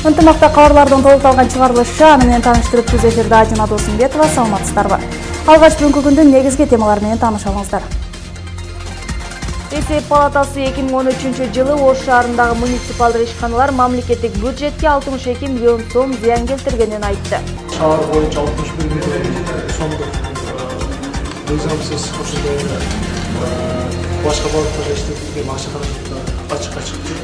Ынтымакта кабарлардын толукталган чыгарылышы аны менен тааныштырып түз эфирде Ажина Досумбетова. Саламатсыздарбы? Алгач бүгүнкү күндүн негизги темалары менен тааныша алыңыздар. Эсеп палатасы 2013 жылы Ош шаарындагы муниципалдык ишканалар мамлекеттик бюджетке 62 миллион сом зыян келтиргенин айтты. Шаар боюнча 61 миллион сомдук мыйзамсыз башка багыттарга иштетилген акча каражаттар ачыкка чыкты.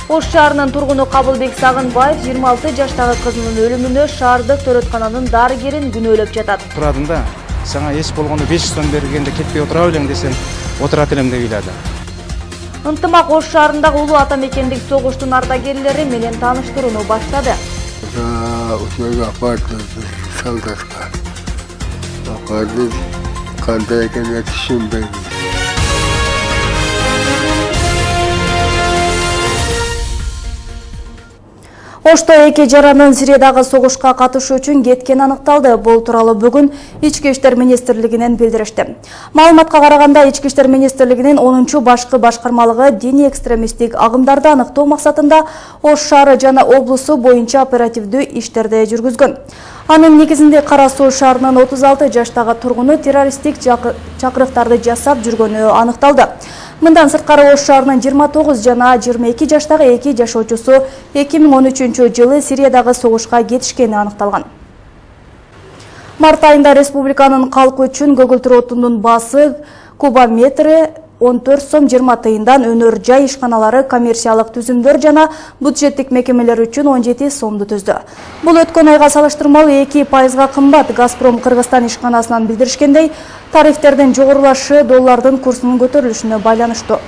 Ош шаарынын тургуну Кабылбек Сагынбаев 26 жаштагы кызынын өлүмүнө шаардык төрөткананын дарыгерин күнөөлөп жатат. Турадында сага эч болгондо 500 сом бергенде кетпей отура белең десем, отурат элем деп ыйлады. Ынтымак Ош шаарындагы улуу ата мекендик согуштун ардагерлери менен тааныштырууну баштады. Кандай экенин түшүнбөйм. Ошто эки жаранын Сириядагы согушка катышуу үчүн кеткени аныкталды. Бул тууралуу бүгүн Ички иштер министрлигинен билдиришти. Маалыматка караганда Ички иштер министрлигинин 10-чу башкы башкармалыгы диний экстремисттик агымдарды аныктоо максатында Ош шаары жана облусу боюнча оперативдүү иштерди жүргүзгөн. Анын негизинде Кара Суу шаарынын 36 жаштагы тургуну террористтик чакырыктарды жасап жүргөнү аныкталды. Мындан сырткары Ош шаарынын 29 жана 22 жаштагы эки жашоочусу 2013 жылы Сириядагы согушка кетишкени аныкталган. Март айында республиканын калкы үчүн көгүлтүр отундун баасы кубометри 14 сом 20 тыйындан өнөр жай ишканалары, коммерциялык түзүмдөр жана бюджеттик мекемелер үчүн 17 сомду түздү. Бул өткөн айга салыштырмалуу 2% кымбат. Газпром Кыргызстан ишканасынан билдиришкендей, тарифтердин жогорулашы доллардын курсунун көтөрүлүшүнө байланыштуу.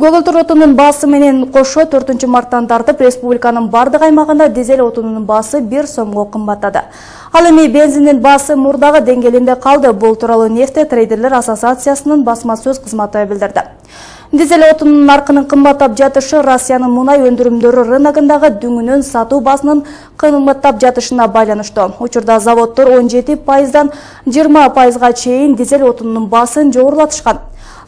Көгүлтүр отунун баасы менен кошо 4 марттан тартып республиканын бардык аймагында дизель отунунун баасы 1 сомго кымбаттады. Ал эми бензиндин баасы мурдагы деңгээлинде калды. Бул тууралуу Нефть трейдерлер ассоциациясынын басма сөз кызматы билдирди. Дизель отунунун наркынын кымбаттап жатышы Россиянын мунай өндүрүмдөрү рыногундагы дүңүнүн сатуу баасынын кымбаттап жатышына байланыштуу. Учурда заводдор 17%дан 20%га чейин дизель отунунун баасын жогорулатышкан.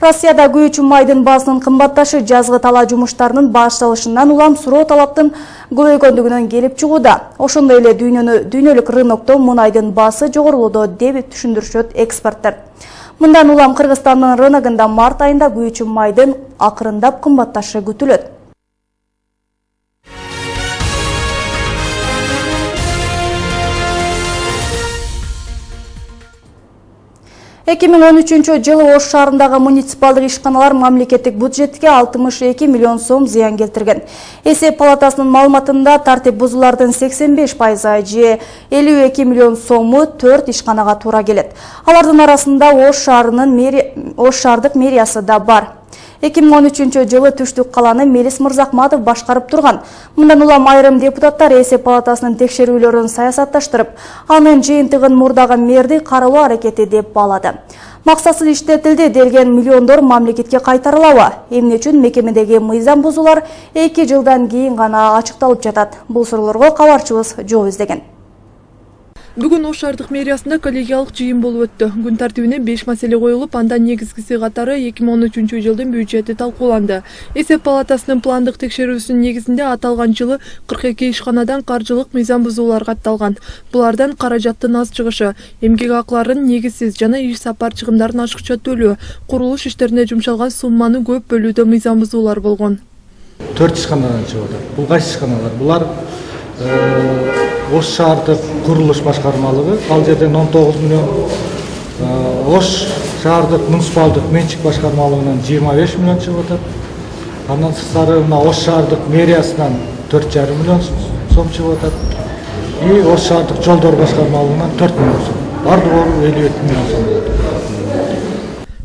Россияда күйүүчү майдын баасынын кымбатташы жазгы талаа жумуштарынын башталышынан улам суроо талаптын көбөйгөндүгүнөн келип чыгууда. Ошондой эле дүйнөлүк рынокто мунайдын баасы жогорулууда деп түшүндүрүшөт эксперттер. Мындан улам Кыргызстандын рыногунда март айында күйүүчү майдын акырындап кымбатташы күтүлөт. 2013 жылы Ош шаарындагы муниципалдык ишканалар мамлекеттик бюджетке 62 миллион сом зыян келтирген. Эсеп палатасынын маалыматында тартип бузуулардын 85% же 52 миллион сому 4 ишканага туура келет. Алардын арасында Ош шаардык мэриясы да бар. 2013 жылы Түштүк каланы Мелис Мырзахматов башкарып турган. Мындан улам айрым депутаттар эсеп палатасынын текшерүүлөрүн саясатташтырып, анын жыйынтыгын мурдагы мэрди каралоо аракети деп баалады. Максатсыз иштетилди делген миллиондор мамлекетке кайтарылабы? Эмне үчүн мекемедеги мыйзам бузуулар 2 жылдан кийин гана ачыкталып жатат? Бул суроолорго кабарчыбыз жооп издеген. Бүгүн Ош шаардык мэриясында коллегиалык жыйын болуп өттү. Күн тартибине 5 маселе коюлуп, андан негизгиси катары 2013 жылдын бюджети талкууланды. Эсеп палатасынын пландык текшерүүсүнүн негизинде аталган жылы 42 ишканадан каржылык мыйзам бузуулар катталган. Булардан каражаттын аз чыгышы, эмгек акыларынын негизсиз жана иш сапар чыгымдарын ашыкча төлөө, курулуш иштерине жумшалган сумманы көп бөлүүдө мыйзам бузуулар болгон. 4 ишканадан чыгып атат. Бул кайсы ишканалар? Булар Ош шаардык курулуш башкармалыгы, ал жерден 19 миллион, Ош шаардык муниципалдык менчик башкармалыгынан 25 миллион чыгып атат. Андан сырткары Ош шаардык мэриясынан 4,5 миллион сом чыгып атат. И Ош шаардык жолдор башкармалыгынан 4 миллион сом. Бардыгы 52 миллион сом болот.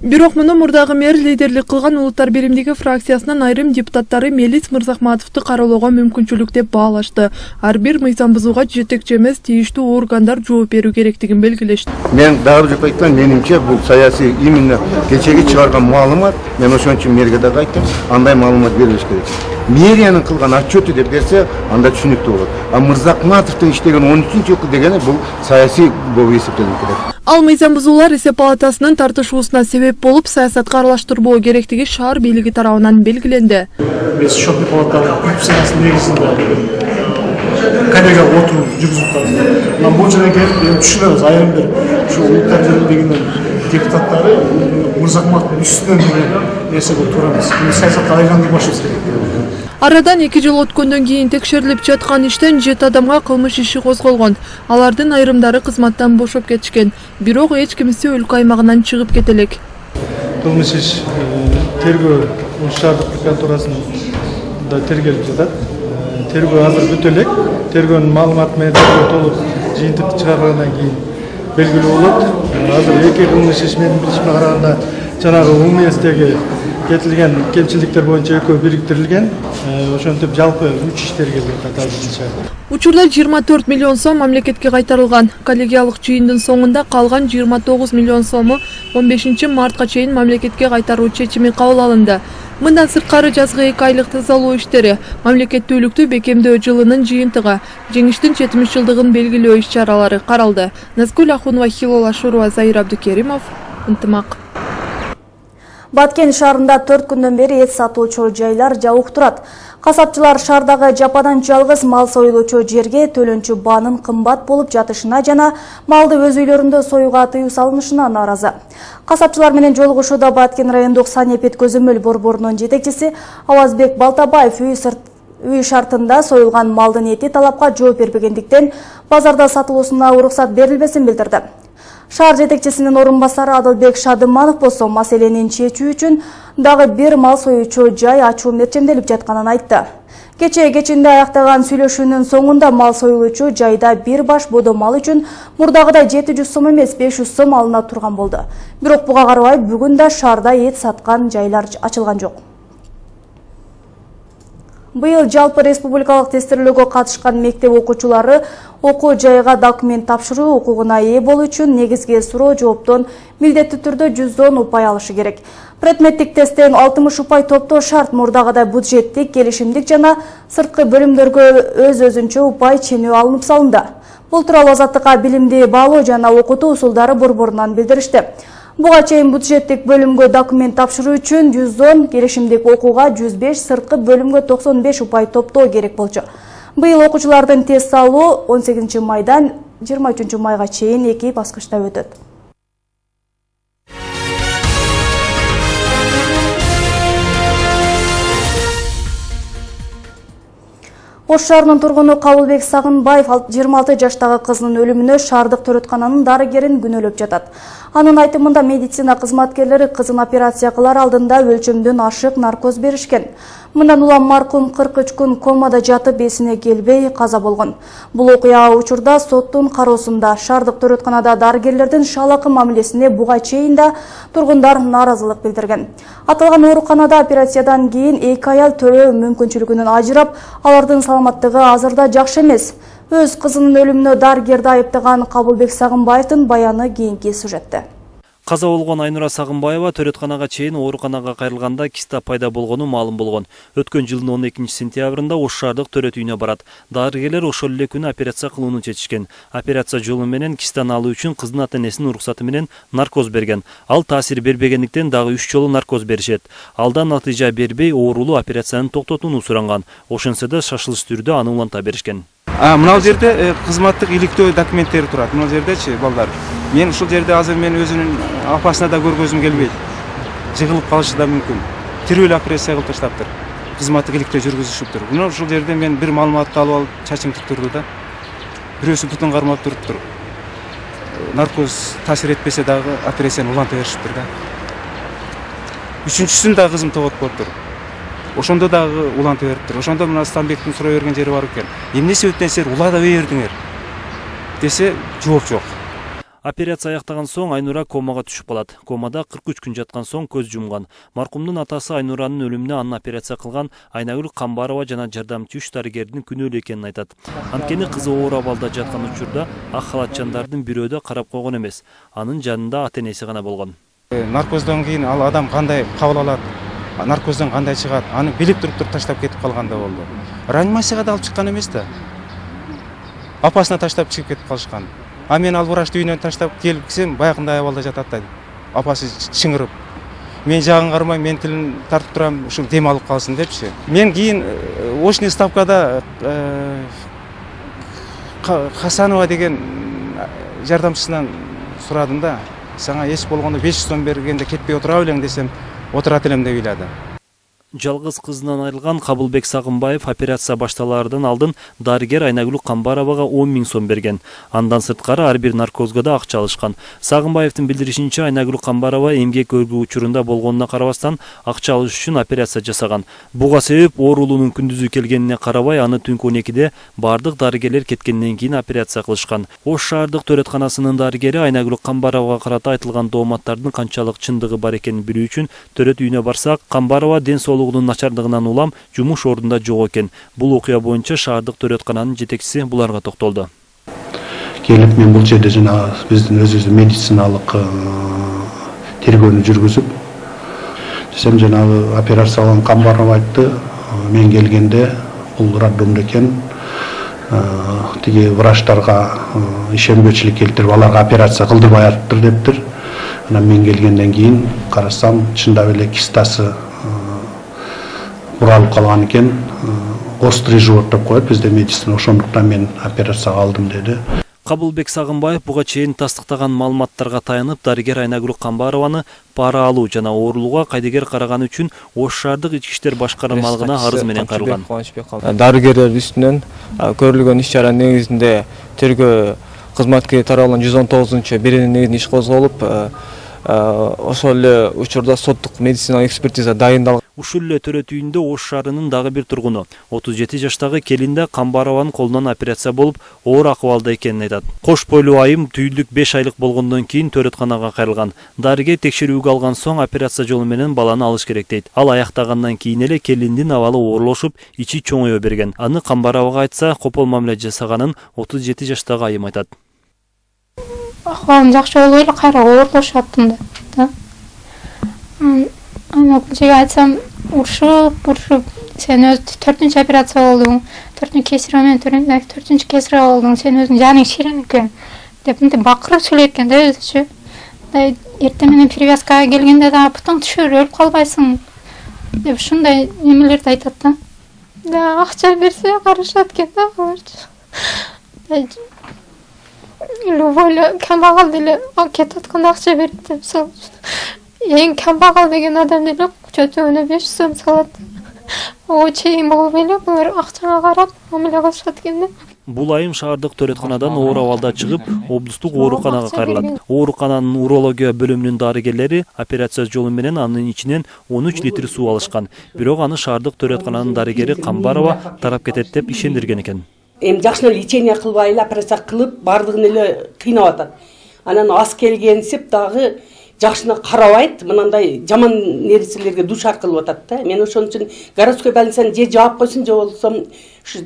Бирок муну мурдагы мэр лидерлик кылган Улуттар биримдиги фракциясынын айрым депутаттары Мелис Мырзахматовду кароолоого мүмкүнчүлүк деп баалашты. Ар бир мыйзам бузууга жетекчи эмес тийиштүү органдар жооп берүү керектигин белгилешти. Мен дагы деп айткан, менимче бул саясий именно кечеги чыгарган маалымат, мен ошон үчүн мэрге да айттым, андай маалымат берилиш керек. Мэриянын кылган отчеты деп берсе, анда түшүнүктүү болот. А Мырзахматовдун иштеген 13-жылкы дегени бул саясий болуп эсептелип келет. Ал мыйзам бузуулар эсеп палатасынын тартышуусуна себеп болуп, саясатка аралаштырбоо керектиги шаар бийлиги тарабынан белгиленди. Биз Шопи палатанын функциясынын негизинде коллегиялык отуруу жүргүзүп жатабыз. Мына бул жерге келип түшүнөбүз, айрым бир ушу улуттар бийлигинин депутаттары Мырзакматовдун үстүнөн деген нерсеге туура эмес. Саясатка айландырбашыбыз керек. Арадан 2 жыл өткөндөн кийин текшерилип жаткан иштен 7 адамга кылмыш иши козголгон. Алардын айрымдары кызматтан бошоп кетишкен. Бирок эч кимиси өлкө аймагынан чыгып кете элек. Кылмыш иш тергөө шаардык прокуратурасында тергелип жатат. Тергөө азыр бүтө элек. Тергөөнүн маалыматы менен толук жыйынтык чыгаргандан кийин белгилүү болот. Азыр эки кылмыш иш менин билишиме караганда жанагы УМСдеги кетилген кемчиликтер боюнча экөө бириктирилген. Ошентип жалпы 3 иш тергелип атат. Учурда 24 миллион сом мамлекетке кайтарылган. Коллегиялык жыйындын соңунда калган 29 миллион сому 15 мартка чейин мамлекетке кайтаруу чечими кабыл алынды. Мындан сырткары жазгы 2 айлык тазалоо иштери, мамлекеттүүлүктү бекемдөө жылынын жыйынтыгы, жеңиштин 70 жылдыгын белгилөө иш-чаралары каралды. Назгүл Ахунова, Хилола Шурова, Заир Абдукеримов, Ынтымак. Баткен шаарында 4 күндөн бери эт сатуучу жайлар жабык турат. Касапчылар шаардагы жападан жалгыз мал союлуучу жерге төлөнчү баанын кымбат болуп жатышына жана малды өз үйлөрүндө союуга тыюу салынышына нааразы. Касапчылар менен жолугушууда Баткен райондук санепет көзөмөл борборунун жетекчиси Авазбек Балтабаев үй шартында союлган малдын эти талапка жооп бербегендиктен базарда сатылуусуна уруксат берилбесин билдирди. Шаар жетекчисинин орун басары Адылбек Шадыманов болсо маселени чечүү үчүн дагы бир мал союучу жай ачуу мерчемделип жатканын айтты. Кечинде аяктаган сүйлөшүүнүн соңунда мал союлуучу жайда бир баш бодо мал үчүн мурдагыдай 700 сом эмес 500 сом алына турган болду. Бирок буга карабай бүгүн да шаарда эт саткан жайлар ачылган жок. Быйыл жалпы республикалык тестирлөөгө катышкан мектеп окуучулары окуу жайга документ тапшыруу укугуна ээ болуу үчүн негизги суроо жооптон милдеттүү түрдө 110 упай алышы керек. Предметтик тесттен 60 упай топтоо шарт. Мурдагыдай бюджеттик, келишимдик жана сырткы бөлүмдөргө өз-өзүнчө упай ченөө алынып салынды. Бул тууралуу Азаттыкка билимди баалоо жана окутуу усулдары борборунан билдиришти. Буга чейин бюджеттик бөлүмгө документ тапшыруу үчүн 110, келишимдик окууга 105, сырткы бөлүмгө 95 упай топтоо керек болчу. Быйыл окуучулардын тест алуу 18 майдан 23 майга чейин 2 баскычта өтөт. Ош шаарынын тургуну Кабылбек Сагынбаев 26 жаштагы кызынын өлүмүнө шаардык төрөткананын дарыгерин күнөөлөп жатат. Анын айтымында медицина кызматкерлери кызын операция кылар алдында өлчөмдөн ашык наркоз беришкен. Мындан улам маркум 43 күн комада жатып эсине келбей каза болгон. Бул окуя учурда соттун кароосунда. Шаардык төрөтканада дарыгерлердин шалакы мамилесине буга чейин да тургундар нааразылык билдирген. Аталган ооруканада операциядан кийин 2 аял төрөө мүмкүнчүлүгүнөн ажырап, алардын саламаттыгы азырда жакшы эмес. Өз кызынын өлүмүнө дарыгерди айыптаган Кабылбек Сагынбаевдин баяны кийинки сюжетте. Каза болгон Айнура Сагынбаева төрөтканага чейин ооруканага кайрылганда киста пайда болгону маалым болгон. Өткөн жылдын 12 сентябрында Ош шаардык төрөт үйүнө барат. Дарыгерлер ошол эле күнү операция кылууну чечишкен. Операция жолу менен кистаны алуу үчүн кыздын ата-энесинин уруксаты менен наркоз берген. Ал таасир бербегендиктен дагы 3 жолу наркоз беришет. Алдан натыйжа бербей оорулуу операцияны токтотууну суранган. Ошентсе да шашылыш түрдө аны уланта беришкен. Мына жерде кызматтык иликтөө документтери турат. Мына жердечи балдар. Мен ушул жерде азыр мен өзүнүн апасына да көргөзүм келбейт. Жыгылып калышы да мүмкүн. Тирүү эле операция кылып таштаптыр. Кызматтык иликтөө жүргүзүшүптүр. Мына ушул жерде мен бир маалыматты алып алып чачым тик турду да. Бирөөсү бутун кармап туруптур. Наркоз таасир этпесе дагы операцияны уланта беришиптир да. Үчүнчүсүн да кызым тогот болуптур. Ошондо дагы уланта бериптир. Ошондо мына Станбектин суроо берген жери бар экен. Эмне себептен силер улада бердиңер? Десе жооп жок. Операция аяктаган соң Айнура комага түшүп калат. Комада 43 күн жаткан соң көз жумган. Маркумдун атасы Айнуранын өлүмүнө анын операция кылган Айнагүл Камбарова жана жардамчы 3 дарыгердин күнөөлүү экенин айтат. Анткени кызы оор абалда жаткан учурда ак халатчандардын бирөө да карап койгон эмес. Анын жанында ата-энеси гана болгон. Наркоздон кийин ал адам кандай кабыл алат? Наркоздон кандай чыгат? Аны билип туруп таштап кетип калганда болду. Реанимацияга да алып чыккан эмес да. Апасына таштап чыгып кетип калышкан. А мен ал врачты үйүнөн таштап келсем, баягындай абалда жатат да. Апасы чыңырып. Мен жагын кармай, мен тилин тартып турам, ушу дем алып калсын депчи. Мен кийин очный ставкада Хасанова деген жардамчысынан сурадым да. Сага эч болгондо 500 сом бергенде кетпей отура белең десем, отурат элем деп ыйлады. Жалгыз кызынан айрылган Кабылбек Сагынбаев операция башталаардан алдын дарыгер Айнагүл Камбаровага 10 000 сом берген. Андан сырткары ар бир наркозго да акча алышкан. Сагынбаевдин билдиришинче, Айнагүл Камбарова эмгек өргүү учурунда болгонуна карабастан акча алыш үчүн операция жасаган. Буга себеп оорулуунун күндүзү келгенине карабай, аны түнкү 12-де бардык дарыгерлер кеткенден кийин операция кылышкан. Ош шаардык төрөтканасынын дарыгери Айнагүл Камбаровага карата айтылган дооматтардын канчалык чындыгы бар экенин билүү үчүн төрөт үйүнө барсак, Камбарова ден соолугунун начардыгынан улам жумуш ордунда жок экен. Бул окуя боюнча шаардык төрөткананын жетекчиси буларга токтолду. Келип мен бул жерде жана биздин өзүбүздүн медициналык тергөөнү жүргүзүп, десем жанагы операция кылган Камбарова айтты, мен келгенде бул роддомдо экен, тиги врачтарга ишенбөөчүлүк келтирип, аларга операция кылдырбай атыптыр дептир. Анан мен келгенден кийин карасам, чындап эле кистасы буралып калган экен. Острый живот деп коет бизде медицина, ошондуктан мен операцияга алдым деди. Кабылбек Сагынбаев буга чейин тастыктаган маалыматтарга таянып, дарыгер Айнагүл Камбарованы пара алуу жана оорулууга кайдыгер караганы үчүн Ош шаардык ички иштер башкармалыгына арыз менен кайрылган. Дарыгерлер үстүнөн көрүлгөн иш-чара негизинде тергөө кызматкери тарабынан 119-беренин негизинде иш козголуп, ошол эле учурда соттук медициналык экспертиза дайындалган. Ушул эле төрөт үйүндө Ош шаарынын дагы бир тургуну 37 жаштагы келинде Камбарованын колунан операция болуп, оор акыбалда экенин айтат. Кош бойлуу айым түйүлдүк 5 айлык болгондон кийин төрөтканага кайрылган. Дарыгер текшерүүгө алган соң операция жолу менен баланы алыш керек дейт. Ал аяктагандан кийин эле келиндин абалы оорлошуп, ичи чоңое берген. Аны Камбаровага айтса, копол мамиле жасаганын 37 жаштагы айым айтат. Ахвалым жакшы болуп эле кайра оорлошуп аттым да. Ана бул айтсам, урушуп, сен өз 4-чү операция болдуң, 4-чү кесире менен 4-чү кесире болдуң, сен өзүң жаның ширин экен деп мынтип бакырып сүйлөйт экен да өзүчү. Эртең менен привязкага келгенде да путуң түшүрүп өлүп калбайсың деп ушундай немелерди айтат да. Да акча берсе карашат экен да алар. Любой камбагал деле кетип атканда акча берет деп салып. Эң камбагал деген адам деле чөтөгүнө 500 сом салат. О чейин болуп эле булар акчага карап мамиле кылышат экен да. Бул айым шаардык төрөтканадан оор абалда чыгып, облустук ооруканага кайрылат. Оорукананын урология бөлүмүнүн дарыгерлери операция жолу менен анын ичинен 13 литр суу алышкан. Бирок аны шаардык төрөткананын дарыгери Камбарова тарап кетет деп ишендирген экен. Эми жакшына лечение кылбай эле операция кылып, бардыгын эле кыйнап атат. Анан ас келгенсип дагы жакшына карабайт, мынандай жаман нерселерге душар кылып атат да. Мен ошон үчүн городской больницаны же жаап койсун, же болсом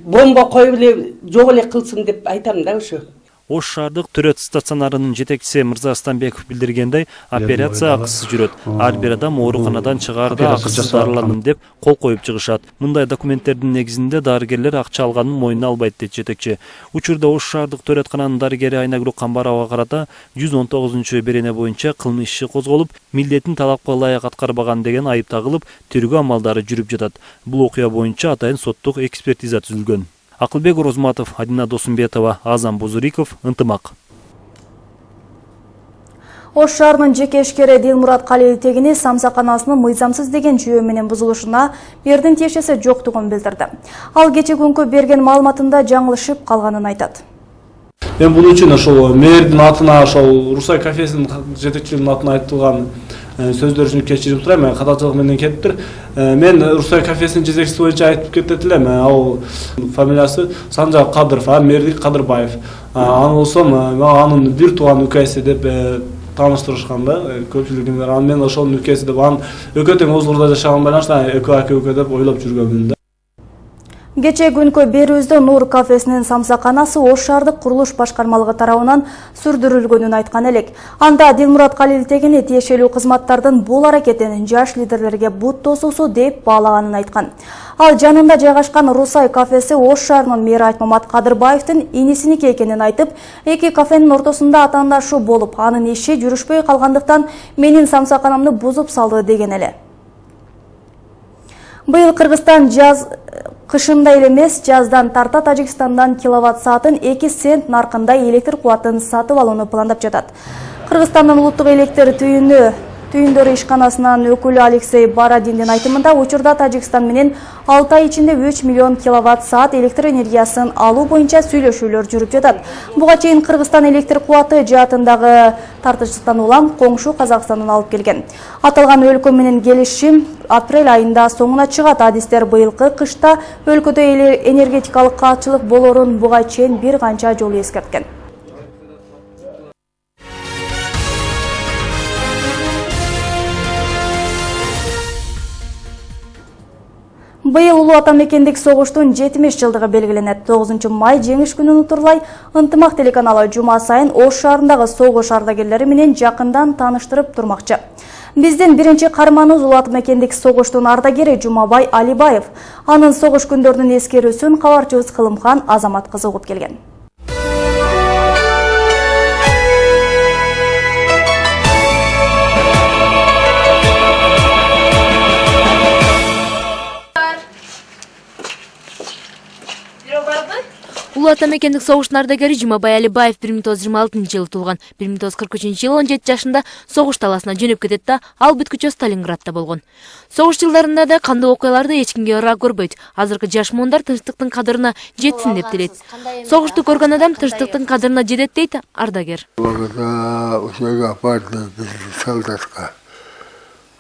бомба коюп эле жок эле кылсын деп айтам да ошо. Ош шаардык төрөт стационарынын жетекчиси Мырза Станбеков билдиргендей, операция акысыз жүрөт. Ар бир адам ооруканадан чыгаарда акысыз дарыландым деп кол коюп чыгышат. Мындай документтердин негизинде дарыгерлер акча алганын мойнуна албайт дейт жетекчи. Учурда Ош шаардык төрөткананын дарыгери Айнагүл Камбаровага карата 119-берене боюнча кылмыш иши козголуп, милдетин талапка ылайык аткарбаган деген айып тагылып, тергөө амалдары жүрүп жатат. Бул окуя боюнча атайын соттук экспертиза түзүлгөн. Акылбек Розматов, Адина Досумбетова, Азам Бузуриков, Ынтымак. Ош шаарынын жеке ишкери Дилмурат Калилтегини самсаканасынын мыйзамсыз деген жүйө менен бузулушуна мэрдин тиешеси жоктугун билдирди. Ал кече күнкү берген маалыматында жаңылышып калганын айтат. Мен бул үчүн ошол мэрдин атына, ошол Русай кафесинин жетекчилигинин атына айтылган сөздөр үчүн кечирип турайм. Мен катачылык менен кеттир. Мен Русай кафесинин жетекчиси боюнча айтып кетет элем. Ал фамилиясы Санжар Кадыров, Мердик Кадырбаев. Аны болсом, анын бир тууган үкөсү деп тааныштырышкан да көпчүлүгүнө. Анан мен ошонун үкөсү деп, анын экөө тең Озлордо жашаган байланыштан экөө деп ойлоп жүргөнмүн да. Кече күнкө берүүздө Нур кафесинин самсаканасы Ош шаардык курулуш башкармалыгы тарабынан сүрдүрүлгөнүн айткан элек. Анда Дилмурат Калилтегини тиешелүү кызматтардын бул аракетин жаш лидерлерге бут тосуусу деп баалаганын айткан. Ал жанында жайгашкан Русай кафеси Ош шаарынын мэри Айтмамат Кадырбаевдин инисиники экенин айтып, эки кафенин ортосунда атаандашуу болуп, анын иши жүрүшпөй калгандыктан менин самсаканамды бузуп салды деген эле. Быйыл Кыргызстан кышында эле эмес, жаздан тарта Тажикстандан киловатт саатын 2 цент наркында электр кубатын сатып алууну пландап жатат. Кыргызстандын улуттук электр түйүндөрү ишканасынын өкүлү Алексей Барадиндин айтымында, учурда Тажикстан менен 6 ай ичинде 3 миллион киловатт саат электр энергиясын алуу боюнча сүйлөшүүлөр жүрүп жатат. Буга чейин Кыргызстан электр кубаты жаатындагы тартыштыктан улам коңшу Казакстандан алып келген. Аталган өлкө менен келишим апрель айында соңуна чыгат. Адистер быйылкы кышта өлкөдө энергетикалык каатчылык болорун буга чейин бир канча жолу эскерткен. Быйыл Улуу Ата мекендик согуштун 70 жылдыгы белгиленет. 9 май жеңиш күнүн утурлай Ынтымак телеканалы жума сайын Ош шаарындагы согуш ардагерлери менен жакындан тааныштырып турмакчы. Биздин биринчи каарманыбыз Улуу Ата мекендик согуштун ардагери Жумабай Алибаев. Анын согуш күндөрүнүн эскерүүсүн кабарчыбыз Кылымхан Азамат кызы угуп келген. Улуу Ата мекендик согуштун ардагери Жумабай Алибаев 1926 жылы туулган. 1943 жылы 17 жашында согуш таласына жөнөп кетет да, ал бүткүчө Сталинградта болгон. Согуш жылдарында да кандуу окуяларды эч кимге ыраа көрбөйт. Азыркы жаш муундар тынчтыктын кадырына жетсин деп тилейт. Согушту көргөн адам тынчтыктын кадырына жетет дейт ардагер. Ошого апарды биз солдатка.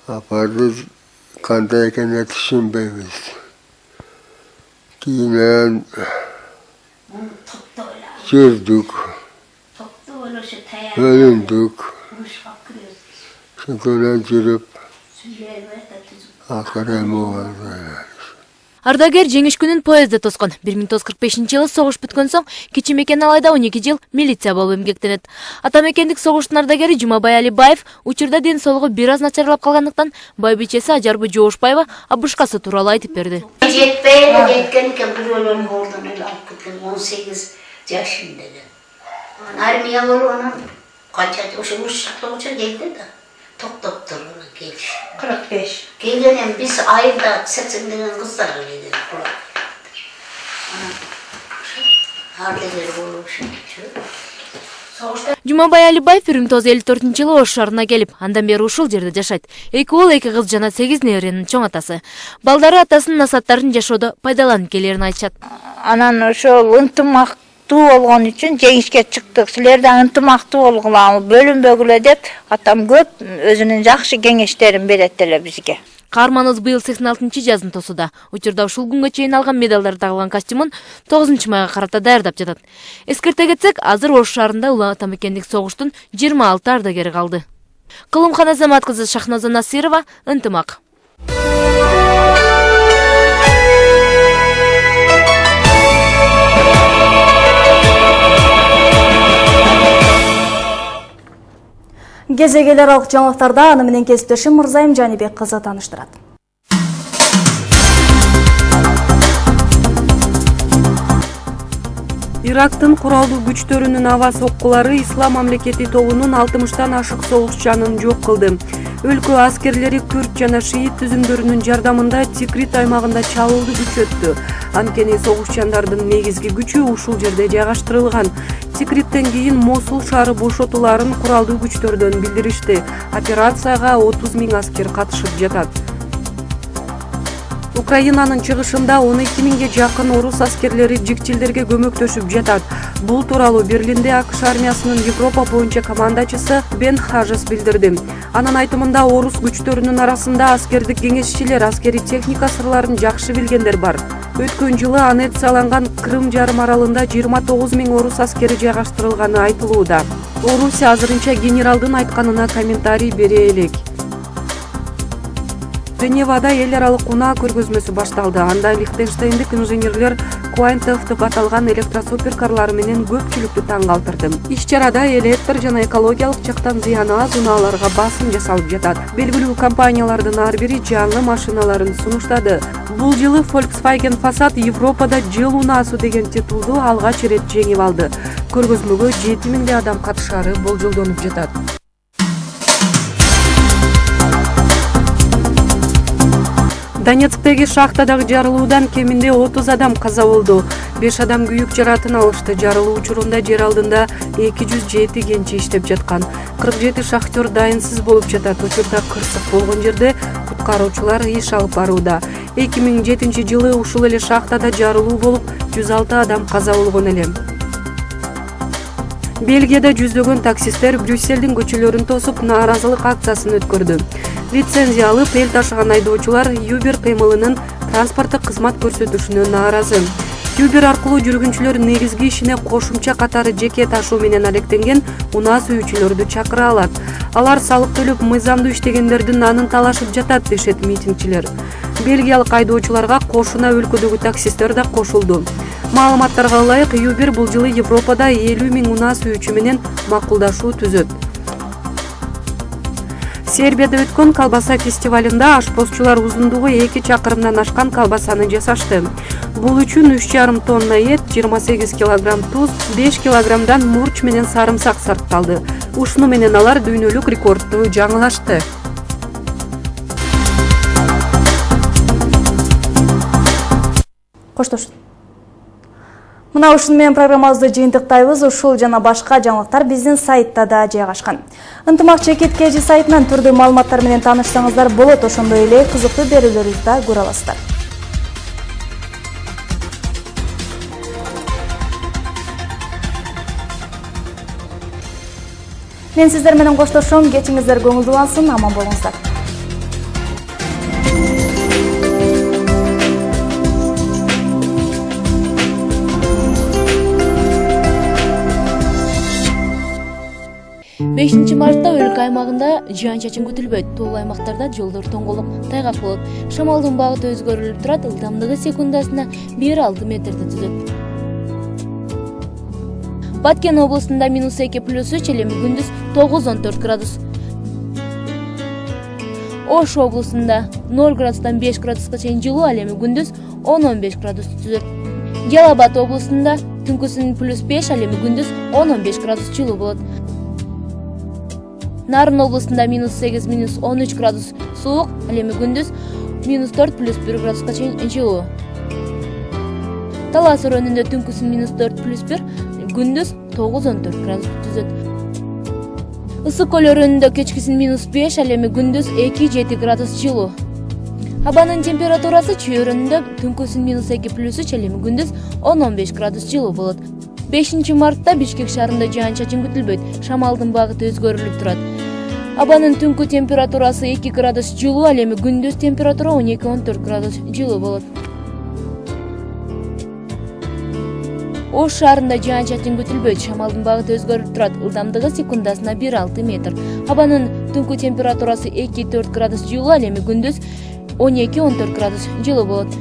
Апарды кандай экенин түшүнбөйбүз. Кийинен жүрдүк, өлүндүк, шөкөлөн жүрүп, акыры болду. Ардагер жеңиш күнүн поездде тоскон. 1945 жылы согуш бүткөн соң Кичи Мекен алайда 12 жыл милиция болуп эмгектенет. Ата мекендик согуштун ардагери Жумабай Алибаев учурда ден соолугу бир аз начарлап калгандыктан байбичеси Ажарбы Жоошбаева абышкасы тууралуу айтып берди. Жеткен бирөөлөрүн ордун эле алып кеткен 18 жашында эле. Армия болуп анан канча ошо уруш келди да. Токтоп турган келиш. 45. Келгенен биз айында 80 деген кыздар келген. Ардагер болуп Жумабай Алибаев 1954 жылы Ош шаарына келип, андан бери ушул жерде жашайт. 2 уул, 2 кыз жана 8 неберенин чоң атасы. Балдары атасынын насааттарын жашоодо пайдаланып келерин айтышат. Анан ошол ынтымактуу болгон үчүн жеңишке чыктык. Силер да ынтымактуу болгула, бөлүнбөгүлө деп атам көп өзүнүн жакшы кеңештерин берет эле бизге. Каарманыбыз быйыл 86 жазын тосуда. Учурда ушул күнгө чейин алган медалдар тагылган костюмун 9 майга карата даярдап жатат. Эскерте кетсек, азыр Ош шаарында Улуу Ата мекендик согуштун 26 ардагери калды. Кылымхан Азамат кызы, Шахназа Насирова, Ынтымак. Кезегелер алык жаңылыктарда аны менен кесиптешим Мырзайым Жанибек кызы тааныштырат. Ирактын куралдуу күчтөрүнүн аба соккулары Ислам мамлекети тобунун 60тан ашык согушчанын жок кылды. Өлкө аскерлери күрд жана шиит түзүмдөрүнүн жардамында Тикрит аймагында чабуулду күчөттү. Анткени согушчандардын негизги күчү ушул жерде жайгаштырылган. Тикриттен кийин Мосул шаары бошотуларын куралдуу күчтөрдөн билдиришти. Операцияга 30 000 аскер катышып жатат. Украинанын чыгышында 12 000ге жакын орус аскерлери жикчилдерге көмөктөшүп жатат. Бул тууралуу Берлинде АКШ армиясынын Европа боюнча командачысы Бен Хажес билдирди. Анын айтымында орус күчтөрүнүн арасында аскердик кеңешчилер, аскери техника сырларын жакшы билгендер бар. Өткөн жылы аннексияланган Крым жарым аралында 29 000 орус аскери жайгаштырылганы айтылууда. Орусия азырынча генералдын айтканына комментарий бере элек. Женевада эл аралык унаа көргөзмөсү башталды. Анда Лихтенштейндик инженерлер Квантов деп аталган электросуперкарлары менен көпчүлүктү таң калтырды. Иш-чарада электр жана экологиялык жактан зыяны аз унааларга басым жасалып жатат. Белгилүү компаниялардын ар бири жаңы машиналарын сунуштады. Бул жылы Volkswagen Passat Европада жыл унаасы деген титулду алгач ирет жеңип алды. Көргөзмөгө 7000 адам катышары болжолдонуп жатат. Донецктеги шахтадагы жарылуудан кеминде 30 адам каза болду. 5 адам күйүк жаратын алышты. Жарылуу учурунда жер алдында 207 кенчи иштеп жаткан. 47 шахтер дайынсыз болуп жатат. Учурда кырсык болгон жерде куткаруучулар иш алып барууда. 2007 жылы ушул эле шахтада жарылуу болуп, 106 адам каза болгон эле. Бельгияда жүздөгөн таксисттер Брюсселдин көчөлөрүн тосуп нааразылык акциясын өткөрдү. Лицензия алып эл ташыган айдоочулар Uber кыймылынын транспорттук кызмат көрсөтүшүнө нааразы. Uber аркылуу жүргүнчүлөр негизги ишине кошумча катары жеке ташуу менен алектенген унаа сүйүүчүлөрдү чакыра алат. Алар салык төлөп мыйзамдуу иштегендердин анын талашып жатат дешет митингчилер. Бельгиялык айдоочуларга кошуна өлкөдөгү таксисттер да кошулду. Маалыматтарга ылайык, Uber бул жылы Европада 50 000 унаа сүйүүчү менен макулдашуу түзөт. Сербияда өткөн колбаса фестивалында ашпозчулар узундугу 2 чакырымдан ашкан колбасаны жасашты. Бул үчүн 3,5 тонна эт, 28 килограмм туз, 5 килограммдан мурч менен сарымсак сарпталды. Ушуну менен алар дүйнөлүк рекордду жаңылашты. Коштошун. Мына ушун менен программабызды жыйынтыктайбыз. Ушул жана башка жаңылыктар биздин сайтта да жайгашкан. Ынтымак ЧКТ сайтынан түрдүү маалыматтар менен таанышсаңыздар болот. Ошондой эле кызыктуу берүүлөрүбүздү да көрө аласыздар. Мен сиздер менен коштошом. Кечиңиздер көңүлдүүлансын, аман болуңуздар. Мартта өлкө аймагында жаан-чачын күтүлбөйт. Тоолуу аймактарда жолдор тоңголуп, тайгак болот. Шамалдын багыты өзгөрүлүп турат, ылдамдыгы секундасына 1-6 метрди түзөт. Баткен облусунда -2+3, элеми күндүз 9-14 градус. Ош облусунда 0 градустан 5 градуска чейин жылуу, элеми күндүз 10-15 градус түзөт. Жалал Абад облусунда түнкүсүн +5, элеми күндүз 10-15 градус жылуу болот. Нарын облусунда -8, -13 градус суук, элеми күндүз -4 +1 градуска чейин жылуу. Талас өрөөнүндө түнкүсүн -4 +1, күндүз 9-14 градус түзөт. Ысык көл өрөөнүндө кечкисин -5, элеми күндүз 2-7 градус жылуу. Абанын температурасы Чүй өрөөнүндө түнкүсүн -2+3, элеми күндүз 10-15 градус жылуу болот. 5 мартта Бишкек шаарында жаан-чачын күтүлбөйт. Шамалдын багыты өзгөрүлүп турат. Абанын түнкү температурасы 2 градус жылуу, элеми күндүз температура 12-14 градус жылуу болот. Ош шаарында жаан-чачын күтүлбөйт. Шамалдын багыты өзгөрүп турат. Ылдамдыгы секундасына 1-6 метр. Абанын түнкү температурасы 2-4 градус жылуу, элеми күндүз 12-14 градус жылуу болот.